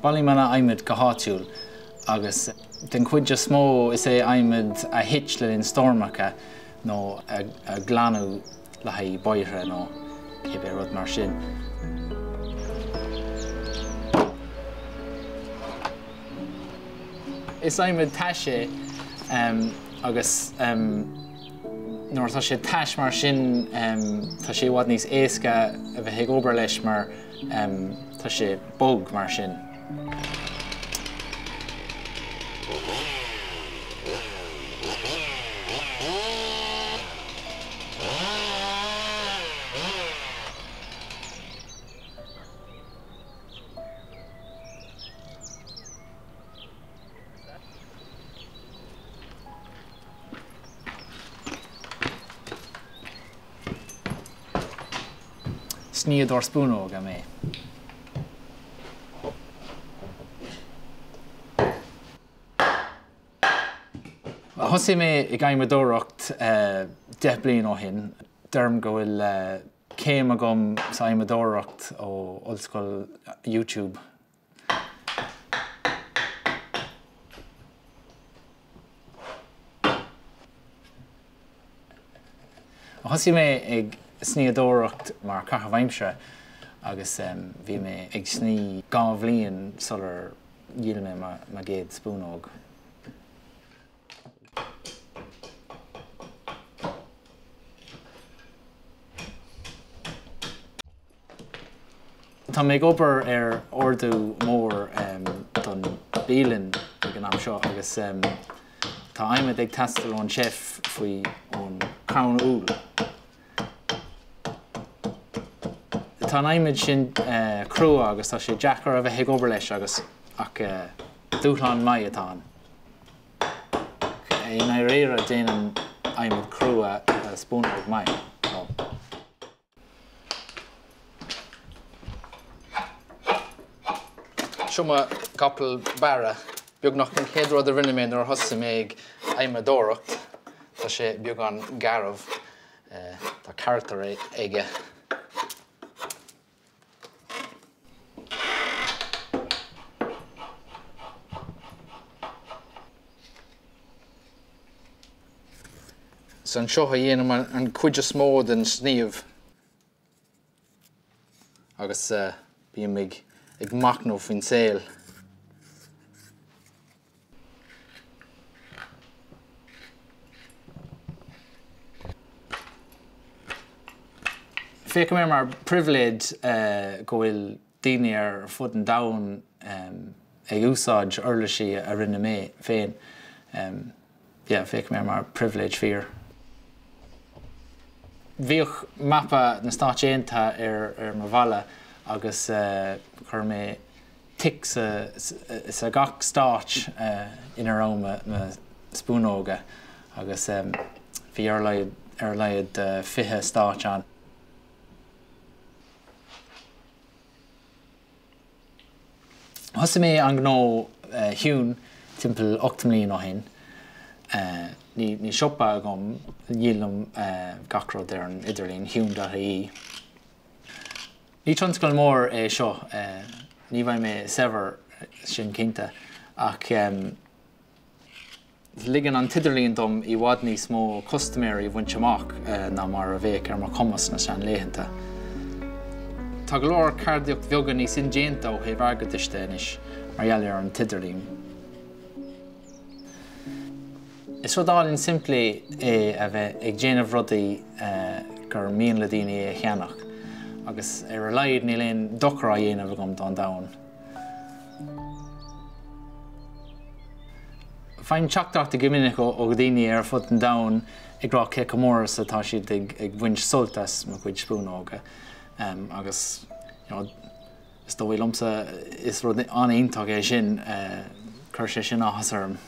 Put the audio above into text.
Bailím an adhmad go háitiúil agus den chuid is mó is é adhmad a thit le linn stoirmeacha nó a glanadh le haghaidh bóithre nó cibé rud mar sin. Is adhmad tais é agus nuair atá sé tais mar sin tá sé i bhfad níos éasca a bheith ag obair leis mar tá sé bog mar sin. Snoíodóir spúnóga mé. Thosaigh mé ag adhmadóireacht 10 bliain ó shin. Deirim go bhfuil céim agam sa adhmadóireacht ó Ollscoil YouTube. Thosaigh mé ag snoíodóireacht mar chaitheamh aimsire agus bhí mé ag snoí 2 bhliain sular dhíol mé mo gcéad spúnóg. Tá mé ag obair ar ordú mór don bialann ag an am seo agus tá adhmad ag teastáil ón chef faoi ón crann úll. Tá an adhmad sin crua agus tá sé deacair a bheith ag obair leis agus ach dúshlán maith atá ann. I ndáiríre déanann adhmad crua spúnóg maith. Seo mo chapall Barra. Beagnach an chéad rud a rinne mé nuair a thosaigh mé ag adhmadóireacht. Tá sé beagán garbh. Tá carachtar aige. Is anseo a dhéanaim an chuid is mó den sníomh agus bím ag machnamh faoin saol. Féachaim air mar pribhléid go bhfuil daoine ar fud an domhain ag úsáid uirlisí a rinne mé féin. Yeah, féachaim air mar pribhléid fíor. Bhíodh mapa na Stáit Aontaithe ar mo bhalla agus chuir mé tic sa gach stáit ina raibh mo spúnóga agus bhí ar a laghad 20 stáit ann. Thosaigh mé an gnó Hewn timpeall 8 mbliain ó shin. Níl siopa agam, díolaim gach rud ar an idirlíon, hewn.ie. Ní tionscal mór é seo, ní bheidh mé saibhir, sin cinnte, ach ligeann an t-idirlíon dom i bhfad níos mó custaiméirí a bhaint amach ná mar a bheadh ar mo chumas sna seanlaethanta. Tá go leor ceardaíocht bheaga níos indéanta ó thaobh airgeadais de anois mar gheall ar an t-idirlíon. Is rud álainn simplí é a bheith ag déanamh rudaí gur mian le daoine é a cheannach agus ar a laghad níl aon dochar á dhéanamh agam don domhan. Faighim teachtaireachtaí go minic ó dhaoine ar fud an domhain ag rá cé chomh mór is atá siad ag baint sult as mo chuid spúnóga agus you know is dóigh liomsa is rud an-iontach é sin, chuir sé sin áthas orm.